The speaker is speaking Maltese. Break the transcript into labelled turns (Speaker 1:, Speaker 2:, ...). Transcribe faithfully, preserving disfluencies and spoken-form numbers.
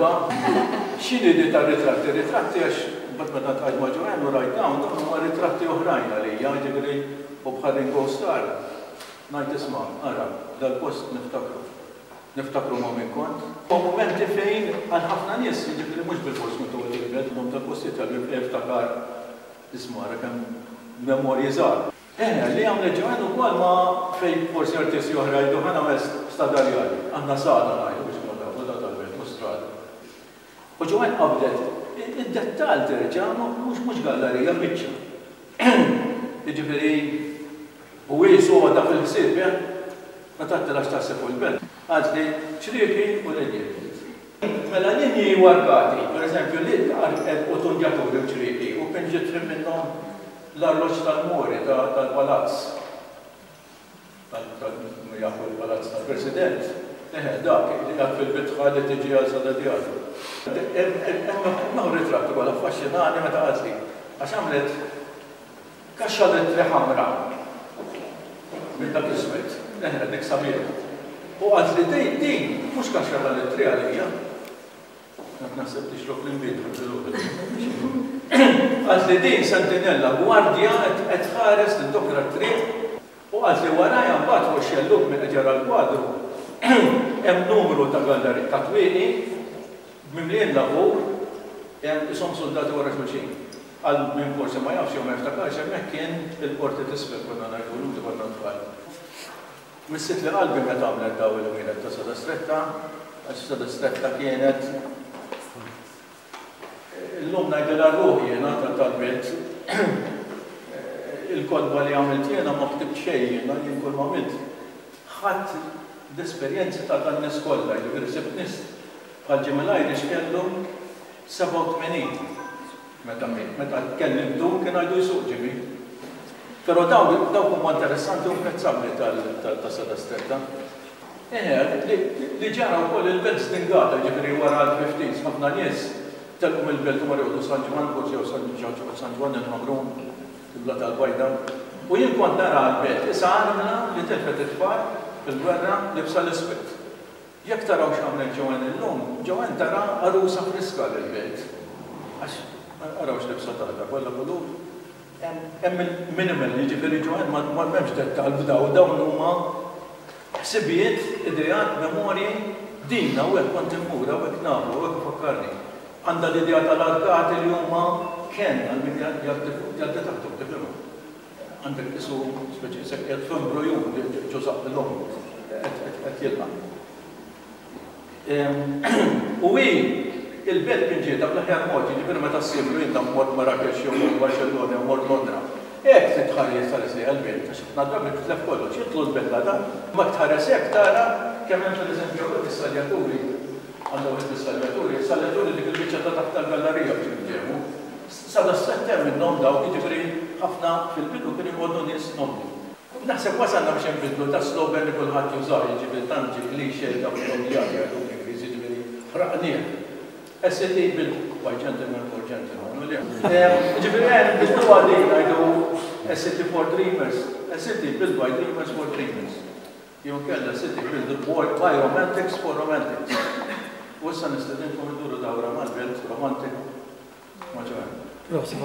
Speaker 1: Darba. X'inhi di tar-ritratti? Ritratti għax mbagħad meta ltqajt ma' Joanne u rajt dawn, dawn huma ritratti oħrajn għalija, jiġifieri u bħal Ringo Starr. Ngħid isma', ara, dal-post niftakru. Niftakru ma' min kont. U mumenti fejn għal ħafna nies, jiġifieri mhux bilfors kont toqgħod il-belt, imma tal-postijiet tal-belt iftakar isma' ara kemm memorji żgħar. Eh, li għamlet Joanne ukoll ma fejn forsi artisti oħra jgħidu ħa nagħmel Strada Rjali. Aħna Sada ngħidu biex nkunu tafu ta' tal-belt mhux strada. U Joanne qabdet id-dettall terġa' mhux mhux gallerija biċċa. Jiġifieri u hi soda fil-ħsieb, eh? Meta għedtilha x'taħseb fuq il-belt, qaltli ċrieki u linji. Mela linji u arkati, pereżempju, li u tundjaturi u ċrieki u pinġiet trim minnhom l-arloġġ tal-Muri tal-palazz. Jafu l-palazz tal-President. Eħe, dak li qiegħed fil-bitħa li tiġi għal Sada Diario. Hemm ritratt ukoll affaxxinani meta qaltli għax għamlet kaxxa lettri ħamra minn dak iswed. Eħe, dik sabiħa. U qaltli din din mhux kaxxa ta' lettri għalija. Qed naħseb tixrob l-inbid filgħodu. Qaltli din sentinella, gwardja qed tħares tindokra t-triq u qaltli warajha mbagħad fuq ix-xellug min qed jara l-kwadru hemm numru ta' galleri ta' twieqi mimlijin lavur hemm ishom suldati wara xulxin. Għal min forsi ma jafx jew ma jiftakarx hemmhekk kien il-qorti t'isfel konna ngħidulu meta konna tfal. Missitli qalbi meta għamlet daw il-ħwienet ta' Sada Stretta għax Sada Stretta kienet illum ngħidilha ruħi jiena tal-belt. Il-kotba li għamilt jiena ma ktibt xejn jiena, jien kull ma għamilt ħadt l-esperjenzi ta' dan-nies kollha, jiġifieri sibt nies bħal Jimmy l-Irish kellu sebgħa u tmenin meta miet, meta kellimtu kien għadu jsuq Jimmy. Però dawk dawk huma interessanti u imprezzabbli ta' Sada Stretta. Eħe, li ġara wkoll il-belt żdingata, jiġifieri wara l-fifties ħafna nies telqu mill-belt u marru joqogħdu San Ġwann, forsi jew San San Ġwann il-Ħamrun, il-Bla tal-Bajda. U jien kont nara l-belt isa armla li tilfet it-tfal fil-gwerra libsa l-iswed. Jekk taraw x'għamlet Joanne illum, Joanne tara għarusa friska lill-belt. Għax araw x'libsa tagħha, kollha kulur. Hemm il-minimal, jiġifieri Joanne ma m'hemmx dettall f'daw, dawn huma ħsibijiet, ideat, memorji, din hawnhekk kont immur, hawnhekk nafu, hawnhekk ifakkarni. Għandha l-idea tal-arkati li huma kenn għal min jgħaddi taħthom, tifhimha. Għandek qisu speċi qisek qiegħed f'embrujun ġo żaqq l-omm qed jilqa'. U hi il-belt pinġietha bl-aħjar mod, jiġifieri meta ssiefru jien naf mort Marrakesh jew mort Barcellona jew mort Londra. Hekk trid tħares tħares lejha l-belt għax ħafna drabi titlef kollox, jidħlu l-belt la dan, imma jekk tħares hekk tara kemm hemm pereżempju hawnhekk is-saljaturi, għandha wieħed mis-saljaturi, is-saljaturi dik il-biċċa ta' taħt tal-gallerija biex niftehmu. Sada s-sett hemm minnhom dawk, jiġifieri ħafna fil-bidu kienu jqogħdu nies nobbli. Naħseb wasalna biex inbiddlu ta' slogan li kulħadd jużah, jiġifieri tant ġie cliché dawk l-omjat jgħidu bl-Ingliż, jiġifieri ħraqnieh. A city built by gentlemen for gentlemen, u le? Jiġifieri ejja nbiddluha din ngħidu a city for dreamers, a city built by dreamers for dreamers. Jew inkella a city built by romantics for romantics. U issa nistedinkom idduru dawra mal-belt romantik ma' Joanne.
Speaker 2: Prosit.